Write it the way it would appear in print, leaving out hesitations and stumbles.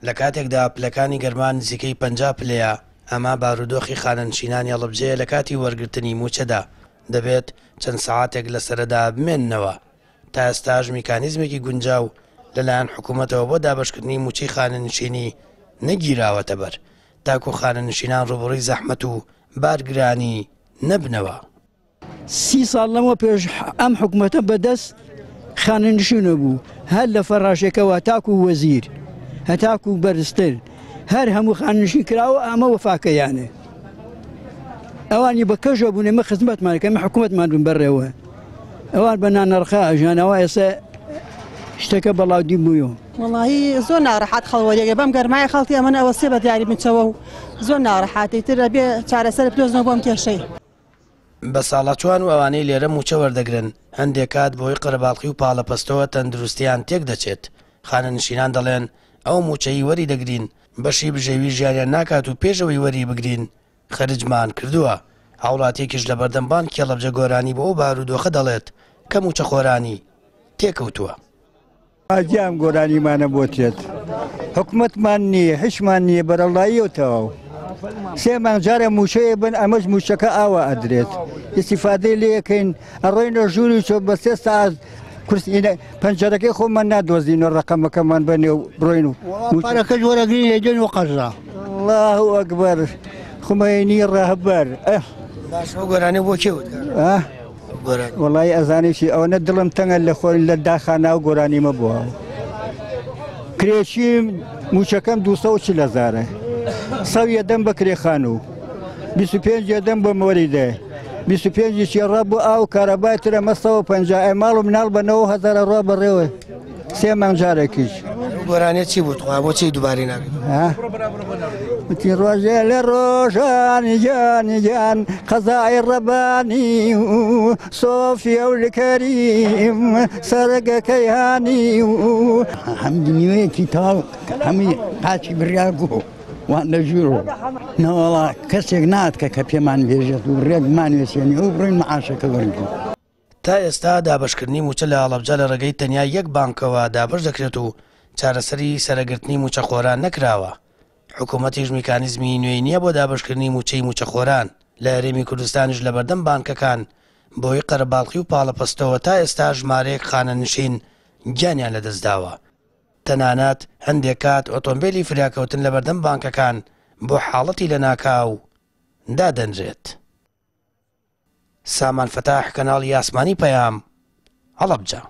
لە کاتێکدا پلەکانی گەرما نزیکەی 50 پلەیە، ئەمە بارودۆخی خانەنشینانی هەڵەبجەیە لە کاتی وەرگرتنی مووچەدا، دەبێت چەند سەعاتێک لە سەرەدا بمێننەوە. تا ئێستاش میکانیزمێکی گونجاو لەلایەن حکوومەتەوە بۆ دابەشکردنی مووچەی خانەنشینی نەگیراوەتەبەر، تاکو خانەنشینان ڕووبەڕووی زەحمەت و بارگرانی نەبنەوە. سی ساڵ لەمەو پێش ئەم حکومەتە بەدەست خانەنشینەوە بوو، هەر لە فەڕاشەکەوە تاکو وەزیر هەتاکو بەرزتر هەر هەموو خانەنشین کراوە، ئەمە وەفاکەیانە. ئەوانی بە کەژە بوون، ئێمە خزمەتمان کە ئێمە حکومەتمان بن بەڕێوە، ئەوان بە نانەڕخا ئەژیان، ئەوە ئێستا شتەکە بەڵاودی بوویەوە. وەڵاهی زۆر ناڕەحەت خەڵ وەریەگرێ بەم گەرمایە خەڵکی ئەمن ئەوەستێ بە دیاری بنچەوە و زۆر ناڕەحەتە ئیتر ئەبێ چارەسەر بدۆزنەوە بۆ ئەم کێشەی. بەساڵاچووان و ئەوانەی لێرە مووچە وەردەگرن، هەندێک کات بەهۆی قەرەباڵخی و پاڵەپەستۆوە تەندروستییان تێکدەچێت. خانەنشینان دەڵێن، ئەو مووچەی وەریدەگرین بەشی بژێوی ژیانیان ناکات و پێش ئەوەی وەریبگرین خەرجمان کردووە. هاوڵاتییەکیش لەبەردەم بانکی هەڵەبجە گۆرانی بۆ ئەو بارودۆخە دەڵێت کە مووچەخۆرانی تێکەوتووە. ئاجی ئەم گۆرانیمانە بۆ تێت حکومەتمان نییە هیچمان نییە بەرەڵایی و تەواو سێ مانگ جارە مووچەیە بن ئەمەش مووچەکە ئاوا ئەدرێت ئیسیفادەی لێکەین ئەڕۆینە ژووری چۆ بە سێ ساعت کورسی پەنجەرەکەی خۆمان نادۆزینەوە ڕقەمەکەمان بەنێ و بڕۆین و پارەکەش وەرەگرین لێدێن و قەرزە. الله ئەکبەر خومەینی ڕەهبەر ئە باشە ئەو گۆرانیە بۆ کێ وت؟ ئا وەڵایی ئەزانی چی ئەوەنە دڵم تەنگە لە خۆ لە داخا ناو گۆرانیمە بووە کرێچیم موچەکەم 240 هەزارە سەو یەدەم بە کرێ خانوو 25 یەدەم بە مۆریدە 25 چێڕا بۆ ئاو کارەبای ترە مە 150 ئەی ماڵ و مناڵ بە 9000 ڕوا بەڕێوە سێ مانگ جارێکیش. ئەو گۆرانیە چی بوو تخوا بۆچی دووبارەی ناکەی؟ وتی ڕۆژێ لە ڕۆژان گیان گیان قەزای ڕەبانی و سۆفیە و لکەریم سەرگەکەی هانی و هەم دنیایەکی تاڵ هەمووی قاچی بڕیار بوو وان لە ژوورەوە نەوەڵا کەسێک نات کە کە پێمان بێژێت و ڕێکمان وێسێنی و بڕۆین معاشەکە وەرگین. تا ئێستا دابەشکردنی مووچە لە هەڵەبجە لە ڕێگەی تەنیا یەک بانکەوە دابەش دەکرێت و چارەسەری سەرەگرتنی مووچەخۆران نەکراوە، حکومەتیش میکانیزمی نوێی نییە بۆ دابەشکردنی مووچەی مووچەخۆران، لە هەرێمی کوردستانیش لەبەردەم بانکەکان بەهۆی قەرەباڵخی و پاڵەپەستۆوە تا ئێستا ژمارەیەک خانەنشین گیانیان لەدەستداوە، تەنانەت هەندێک کات ئۆتۆمبێلی فریاکەوتن لەبەردەم بانکەکان بۆ حاڵەتی لەناکاو دادەنرێت. سامان فەتاح کەناڵی ئاسمانی پەیام، هەڵەبجە.